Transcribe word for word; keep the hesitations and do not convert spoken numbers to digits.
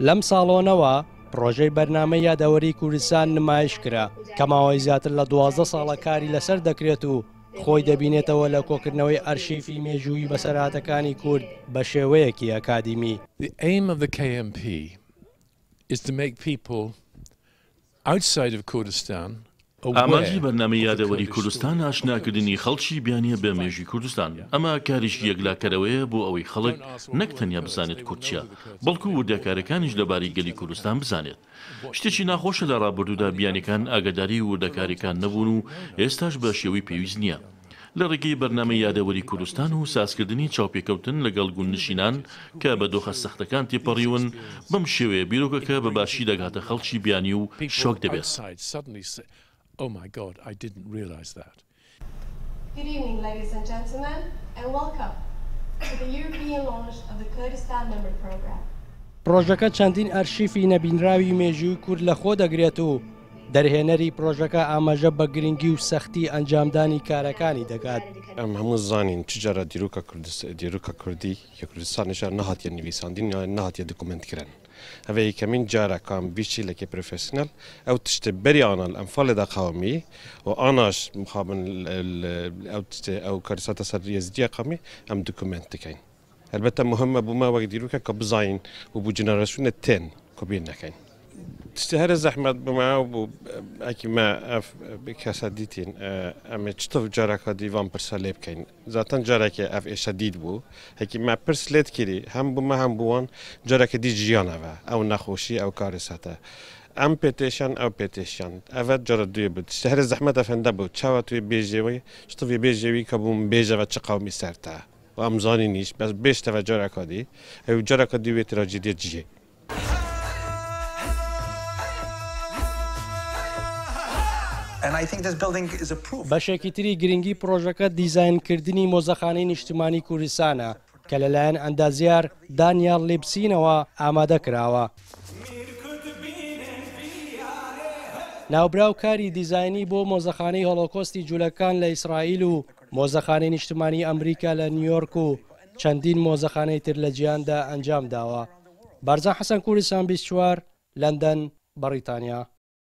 لەم ساڵۆنەوە پرۆژەی بەرنامەی یادەوەری کوردستان نمایش کرا کە ماوەی زیاتر لە دوازدە ساڵە کاری لەسەر دەکرێت و خۆی دەبینێتەوە لە کۆکردنەوەی ئەرشیفی مێژووی بەسەرهاتەکانی کورد بە شێوەیەکی ئەکادیمی. The aim of the K M P is to make people outside of Kurdistan ئامانجی بەرنامەی یادەوەری کوردستان ئاشناکردنی خەڵکی بیانیە بە مێژووی کوردستان. ئەمە کارێکی یەکلاکەرەوەیە بۆ ئەوەی خەڵک نەک تەنیا بزانێت کورد چییە، بەڵکو وردەکارەکانیش لەبارەی گەلی کوردستان بزانێت. شتێکی ناخۆشە لە ڕابردوودا بیانیەکان ئاگاداری وردەکاریەکان نەبوون و ئێستاش بە شێوەی پێویست نییە. لە ڕێگەی بەرنامەی یادەوەری کوردستان و سازکردنی چاوپێکەوتن لەگەڵ گوندنشینان کە بە دۆخە سەختەکان تێپەڕیون، بەم شێوەیە بیرۆکەکە بە باشی دەگاتە خەڵکی بیانی و شۆک دەبێت. Oh my God, I didn't realize that. Good evening, ladies and gentlemen, and welcome to the European launch of the Kurdistan Memory Program. پرۆژەکە چەندین ئەرشیفی نەبینراوی مێژووی کورد لە خۆ دەگرێت و دەرهێنەری پرۆژەکە ئاماژە بە گرنگی و سەختی ئەنجامدانی کارەکانی دەکات. ئەم هەموو زانین چ جارە دیروکە دیروکە کوردی یا کوردستانیشە نەهاتیە نویساندین یا نەهاتیە دۆکومێنت کرن. ئەوە یەکەمین جارە کام بیچی professional ئەو تشتە بەری ئانا ئەنفالێ قومی و ئاناش مخابن ئەو تشتە ئەو کارساتە سەر یەزدیە قومی ئەم دۆکومێنت دەکەین. البته مهمە بۆ ما وەک دیروکە کە بزانین و بۆ generation تێن کە بیر نەکەین. تشتە هەرە زەحمەت بما و ئەکی ما ئەف کەسە دیتین ئەمێ چطف جارەکە دیوان پرسە لێ بکەین. زاتەن جارێکێ ئەف ئێشە دیت بوو هەکی ما پرس لێت کردی هەم بوومە هەم بووان جارێکە دی ژیانەوە ئەو نەخۆشی ئەو کارەساتە ئەم پێتێشان ئەو پێتێشان ئەڤە جارە دوێ بوو. تشتە هەرە زەحمەت ئەفەندە بوو چاوە توێ بێژێوی چطفی بێژێوی کە بووم بێژەوە چ قومی سەرتە و ئەم زانینیش بەس بێشتەوە جارەکە دی ئەو جارەکە دی وێ تراجیدیە جیێ. بەشێکی تری گرنگی پرۆژەکە دیزاینکردنی مۆزەخانەی نیشتمانی کوردستانە کە لەلایەن ئەندازیار دانیال لیپسینەوە ئامادە کراوە. ناوبراو کاری دیزاینی بۆ مۆزەخانەی هۆلۆکۆستی جوولەکان لە ئیسرائیل و مۆزەخانەی نیشتمانی ئەمریکا لە نیویۆرک و چەندین مۆزەخانەی تر لە جیهاندا ئەنجام داوە. بارزان حەسەن، کوردستان بیست چوار، لەندەن، بەریتانیا.